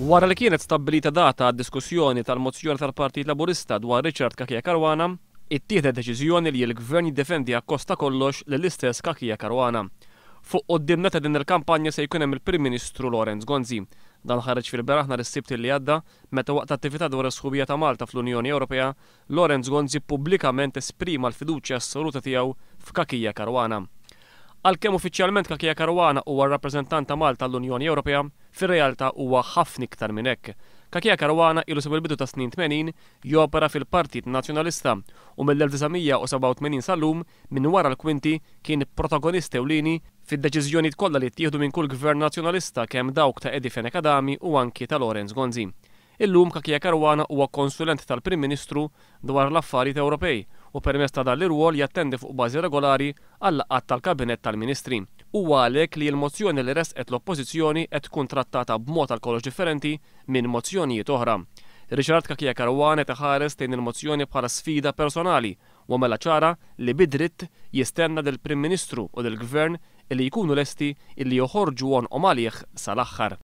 Wara li kienet stabbilita data għad-diskussjoni tal-mozzjoni tal-Partit Laburista dwar Richard Cachia Caruana, ittieħdet deċiżjoni li l-Gvern jiddefendi akkost ta' kollox lill-istess Cachia Caruana. Fuq quddiem nett ta' din il-kampanja se jkun hemm il-Prim Ministru Lawrence Gonzi. Dan ħareġ fil-beraħ nhar is-Sibt li għadda meta waqt attività dwar is-sħubija ta' Malta fl-Unjoni Ewropea, Lawrence Gonzi pubblikament esprima l-fiduċja assoluta tiegħu f'Cachia Caruana. Għalkemm uffiċjalment Cachia Caruana huwa r-rappreżentant ta' Malta l-Unjoni Ewropea, fir-realtà huwa ħafna iktar minn hekk. Cachia Caruana ilu sa mill-bidu tas-snin 80 jopera fil-Partit Nazzjonalista u mill-1987 sal-lum minn wara l-kwinti kien protagonist ewlieni fid-deċiżjonijiet kollha li ttieħdu minn kull gvern nazzjonalista, kemm dawk ta' Eddie Fenech Adami u anki ta' Lawrence Gonzi. Illum Cachia Caruana huwa konsulent tal-Prim Ministru dwar l-affarijiet Ewropej u permezz ta' dan l-irwol jattendi fuq bażi regolari għal-laqgħat tal-Kabinett tal-Ministri. Huwa għalhekk li l-mozzjoni li resqet l-Oppożizzjoni qed tkun trattata b'mod għal kollox differenti minn mozzjonijiet oħra. Richard Cachia Caruana qed iħares lejn il-mozzjoni bħala sfida personali u għamela ċara li bidritt jistenna lill-Prim Ministru u lill-Gvern li jkunu lesti illi joħorġu għonqhom għalih sal-aħħar.